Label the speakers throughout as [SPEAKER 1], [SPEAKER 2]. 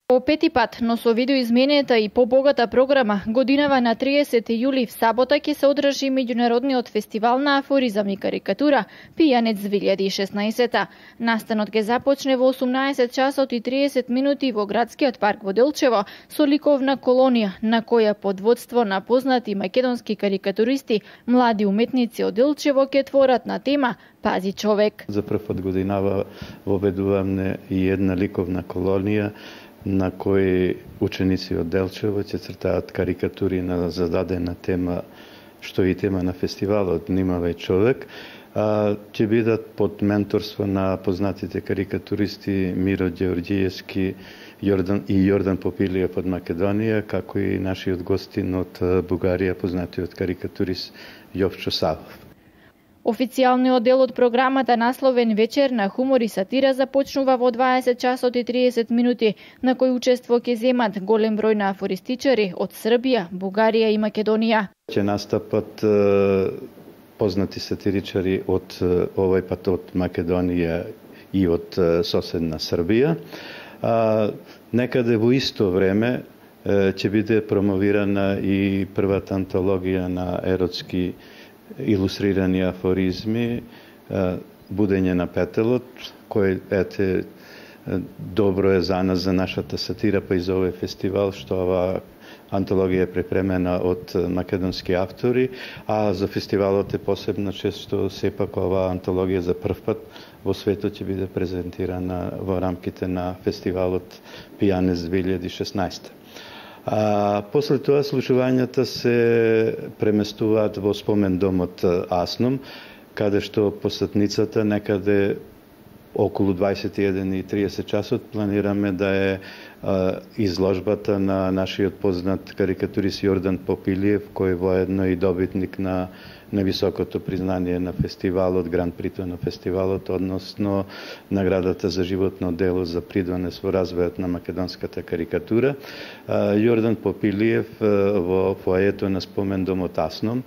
[SPEAKER 1] По пети пат, но со видеоизменета и побогата програма, годинава на 30 јули в сабота ќе се одржи меѓународниот фестивал на афоризам и карикатура Пијанец 2016. Настанот ќе започне во 18 часот и 30 минути во градскиот парк во Делчево со ликовна колонија на која под водство на познати македонски карикатуристи, млади уметници од Делчево ќе творат на тема Пази човек.
[SPEAKER 2] За прв пат годинава воведуваме и една ликовна колонија на кои ученици од Делчево ќе цртаат карикатури на зададена тема, што е тема на фестивалот Внимавај човек. Ќе бидат под менторство на познатите карикатуристи Миро Ѓеорѓиевски и Јордан Попилиев од Македонија, како и нашиот гостин од Бугарија, познатиот карикатурист Јовчо Савов.
[SPEAKER 1] Официјалниот дел од програмата, насловен Вечер на хумор и сатира, започнува во 20 часот и 30 минути, на кој учество ќе земат голем број на афористичари од Србија, Бугарија и Македонија.
[SPEAKER 2] Ќе настапат познати сатиричари од овој пат од Македонија и од соседна Србија. Некаде во исто време ќе биде промовирана и првата антологија на еротски илустрирани афоризми, Будење на петелот, кој добро е за нас, за нашата сатира, па и за овој фестивал, што ова антологија е препремена од македонски автори, а за фестивалот е посебна чест што сепак ова антологија за прв пат во светот ќе биде презентирана во рамките на фестивалот Пијанец 2016. После тоа случувањата се преместуваат во спомен домот Асном, каде што посетницата некаде околу 21:30 часот планираме да е изложбата на нашиот познат карикатурист Јордан Попилиев, кој воедно и добитник на високото признание на фестивалот, гран прито на фестивалот, односно наградата за животно дело за придонес во развојот на македонската карикатура. Јордан Попилиев во фоајето на спомен домот Асном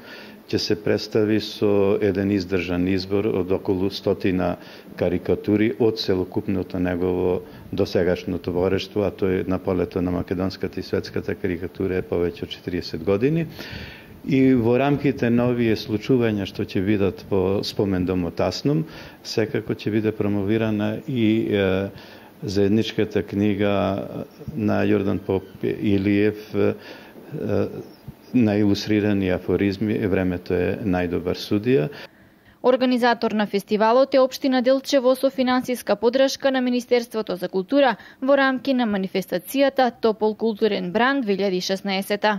[SPEAKER 2] ќе се представи со еден издржан избор од околу 100 карикатури од целокупното негово досегашно творештво, а тој на полето на македонската и светската карикатура е повеќе од 40 години. И во рамките на овие случувања што ќе бидат во спомен домот Асном, секако ќе биде промовирана и заедничката книга на Јордан Попилиев на илустрирани афоризми "Времето е најдобар судија".
[SPEAKER 1] Организатор на фестивалот е општина Делчево со финансиска поддршка на Министерството за култура во рамки на манифестацијата Топол културен бранд 2016.